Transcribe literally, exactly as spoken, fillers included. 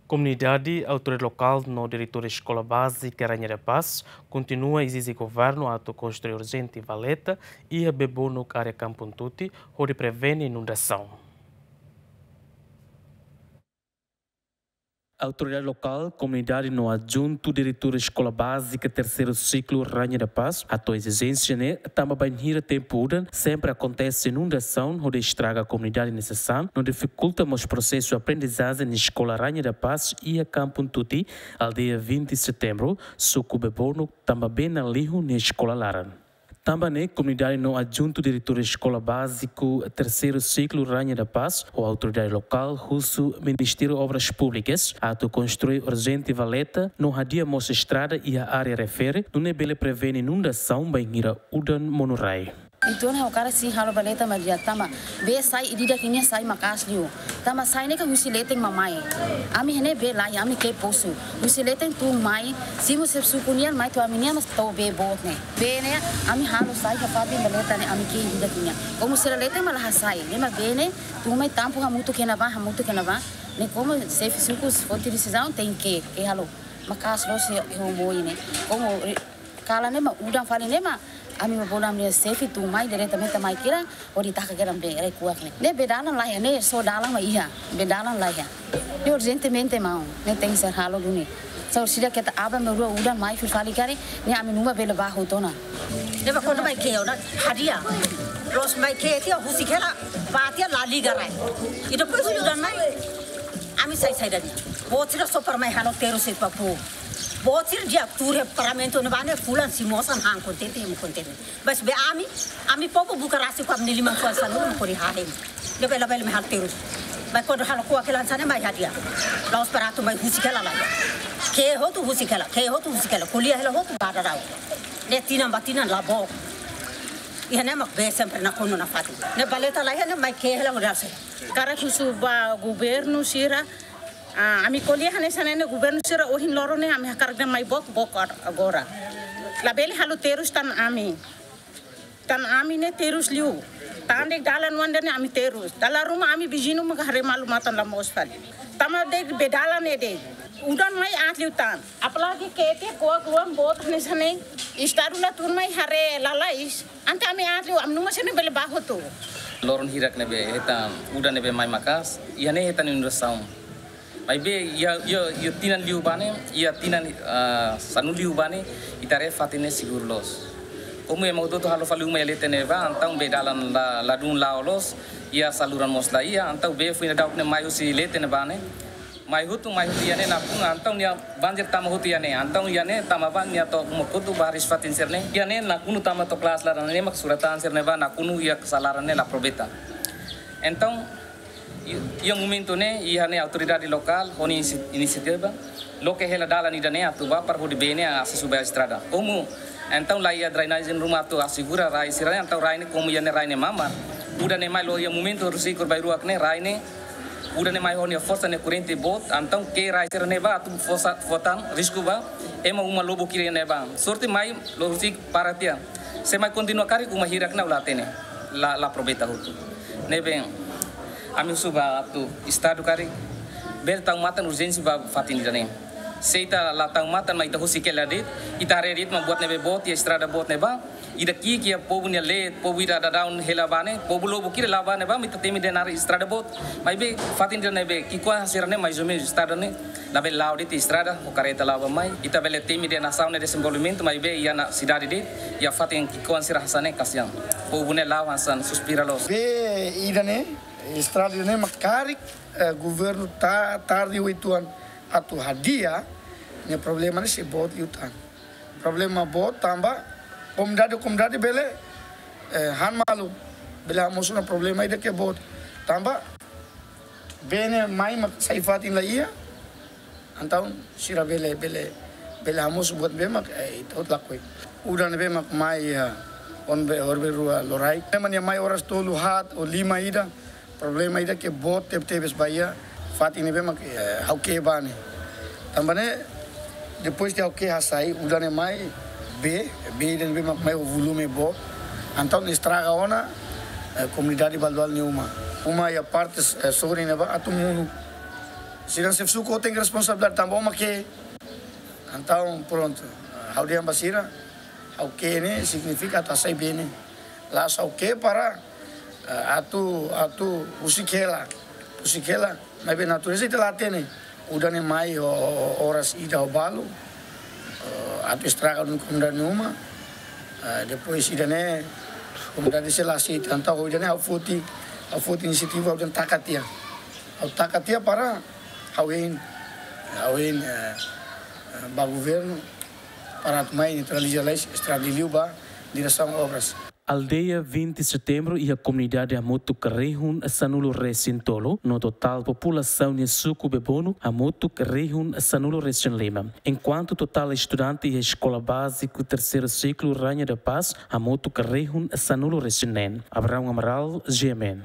Komunidade, autoridade lokál no diretór Eskola Bázika Rainha da Paz kontinua ezije governu atu konstrui urjente valeta iha Bebonuk, área Kampung Tuti, hodi prevene inundasaun. Autoridade lokál, komunidade no adjuntu diretór Eskola Bázika Terseiru Siklu Rainha da Paz hato'o ezijénsia ne'e tanba bainhira tempu udan sempre akontese inundasaun hodi estraga komunidade nia sasán no difikulta mós prosesu aprendizajen iha Eskola Rainha da Paz iha Kampung Tuti, aldeia vinte Setembru, suku Bebonuk, tanba bee ne'e lihun iha eskola laran. Tanba ne'e, komunidade no adjuntu diretór Eskola Báziku Terseiru Siklu Rainha da Paz ho autoridade lokál husu Ministériu Obras Públikas atu konstrui urjente valeta no hadi'a mós estrada iha área refere, nune'e bele prevene inundasaun bainhira udan monu rai. Entaun ha'u hakarak sei halo valeta, maibé tanba bee sai ida-idak nian sai maka'as liu. Tanba sai ne'e kan husi leten mak mai. Ami iha ne'e bee laiha, ami ke'e posu. Husi leten tun mai, simu xefe suku nian mai to'o ami-nian mak to'o bee boot ne'e. Bee ne'e ami halo sai iha fatin valeta ne'e ami ke'e ida-idak nian. Komu sira leten mak la hasai, ne'e mak bee ne'e tun mai tampu hamutuk iha ne'ebá, hamutuk iha ne'ebá. Ne'e komu xefe suku foti desizaun tenke, ke halo. Maka'as loos iha, iha Mooi ne'e. Komu, eh, kalan ne'e mak udan fali ne'e mak ami bolu ami-nia xefe tun mai diretamente mai kiran, hodi taka kiran bee, rai kuak ne'e. Ne'e bee dalan laiha, ne'e só dalan mak iha, bee dalan laiha. Ne'e urjentemente maun, ne'e tenke ser halo duni. Só sida keta aban-bainrua udan mai fila fali karik, ne'e ami nunka bele bá hotu ona. Ne'ebé kuandu mai ke'e ona, hadi'a. Loos mai ke'e tiha husik hela, bá tiha la liga rai. I depois udan mai, ami sai saida de'it. Boot sira só para mai halo terus iha Papu. Boot sira di'ak tuur iha Parlamentu ne'ebá ne'e fulan simu osan han kontente, ema kontente. Mas be ami, ami povu buka rasik ho ami-nia liman-fuan sanulu mak hodi hahen. Ne'ebé labele mai halo terus. Mai kuandu halo kuak hela hanesan ne'e mai hadi'a. La'ós para atu mai husik hela laiha. Ke'e hotu husik hela, ke'e hotu husik hela. Ko'alia hela hotu ba daudaun. Ne'e tinan ba tinan la book. Iha ne'e mak bee sempre nakonu nafatin. Ne'e valeta laiha ne'e mai ke'e hela hodi halo saida. Hakarak husu ba governu sira, ah, ami ko'alia hanesan ne'e, governu sira ohin loron ne'e ami hakarak dehan mai book, book agora. Labele halo terus tan ami. Tan ami ne'e terus liu. Tan de'it dalan oan ida-ne'e ami terus. Dala ruma ami viziñu mak haree malu-matan la moos fali. Tanba de'it bee dalan ne'e de'it. Udan mai aat liu tan. Apalagi ke'e tiha kuak luan boot hanesan ne'e. Estadu la tun mai haree lalais. Entaun ami aat liu, ami nunka sira-ne'e bele bá hotu. Loron hirak ne'ebé hetan udan ne'ebé mai maka'as, iha ne'e hetan inundasaun. Maibé iha, iha, iha tinan liubá ne'e, iha tinan, ah, sanulu liubá ne'e, ita haree fatin ne'e seguru loos. Komu ema hotu-hotu halo fali uma iha leten ne'ebá, entaun bee dalan la, ladún la'o loos, iha saluran mós la iha, entaun bee foin daudauk ne'e mai husi leten ne'ebá ne'e. Mai hotu, mai hotu iha ne'e nakonu, entaun nia banjir tama hotu iha ne'e, entaun iha ne'e tama ba nia to'o uma kotuk ba hariis-fatin sira-ne'e. Iha ne'e nakonu tama to'o klaran laran ne'e mak sura-tan sira-ne'e ba nakonu iha sala laran ne'e la aproveita. Entaun, i-, iha momentu ne'e, iha ne'e autoridade lokál, ho nia inisi-, inisiativa, loke hela dalan ida-ne'e atu bá para hodi bee ne'e asesu ba estrada. Komu, entaun la iha drenajen ruma atu asegura rai sira-ne'e, entaun rai ne'e komu iha ne'e rai ne'e mamar. Udan ne'e mai loos iha momentu horiseik bainrua ne'e rai ne'e, udan ne'e mai ho nia forsa ne'e korrente boot, entaun ke'e rai sira-ne'e ba atu fó sa-, fó tan risku ba ema uma lubuk ki'ik ne'ebá. Sorte mai loos horiseik para tiha. Se mai kontinua karik uma hirak ne'e la hatene. La, la aproveita hotu. Ne'ebé ami husu ba atu Estadu karik bele tau matan urjénsia ba fatin ida-ne'e. Se ita la tau matan mak ita husik hela de'it, ita haree de'it mak buat ne'ebé boot iha estrada boot ne'ebá. Ida ki'ik iha povu nia leet, povu ida daudaun hela bá ne'e, povu lubuk ki'ik la'o bá ne'ebá, mak ita temi dehan naran estrada boot. Maibé fatin ida ne'ebé ki'ikoan sira-ne'e mais ou menos estrada ne'e labele la'o de'it estrada, ho karreta la'o bá mai. Ita bele temi dehan nasaun ne'e dezenvolvimentu, maibé iha ona sidade de'it, iha fatin ki'ikoan sira hanesan ne'e kasihan. Povu ne'e la'o hanesan suspira loos. Bee ida-ne'e, estrada ida-ne'e mak karik, eh, governu ta-, tarde uitoan atu hadi'a, nia problema ne'e sei boot liután. Problema boot tanba komunidade, komunidade bele, eh, han malu, bele hamosu ona problema ida ke boot. Tanba bee ne'e mai mak sai fatin la iha, entaun sira bele, bele, bele hamosu buat ne'ebé mak, eh, ita hotu lakohi. Udan ne'ebé mak mai iha, ohin be, ohin be rua loraik. Ne'e mak nia mai oras tolu haat ou lima ida. Problema ida ke boot tebetebes ba iha fatin ne'ebé mak, eh, ha'u ke'e bá ne'e. Tanba ne'e, depois de ha'u ke'e hasai, udan ne'e mai, bee, bee ida ne'ebé mak mai ho volume boot. Entaun estraga ona, eh, komunidade balu-balu nia uma. Uma iha parte, eh, sorin ne'ebá atu monu. Sira xefe suku tenke responsabilidade tanba uma ke. Entaun prontu, ha'u dehan ba sira, ha'u ke ne'e signifika atu hasai bee ne'e. La'ós ha'u ke para, eh, atu, atu husik hela, husik hela. Maibé natureza ita la hatene. Udan ne'e mai ho, ho, ho oras ida ho balu, eh, atu estraga duni komunidade nia uma. Eh, depois ida-ne'e komunidade sei la aseita. Entaun ho ida-ne'e ha'u foti, ha'u foti inisiativa, ha'u dehan taka tiha. Ha'u taka tiha para ha'u hein, ha'u hein, eh, eh, ba governu para atu mai neutraliza lais estrada de liu ba diresaun obras. Aldeia vinte Setembru iha komunidade hamutuk rihun sanulu resin tolu, no totál populasaun iha suku Bebonu hamutuk rihun sanulu resin lima. Enkuantu totál estudante iha eskola báziku terseiru siklu Rainha da Paz hamutuk rihun sanulu resin neen. Abraão Amaral, G M N.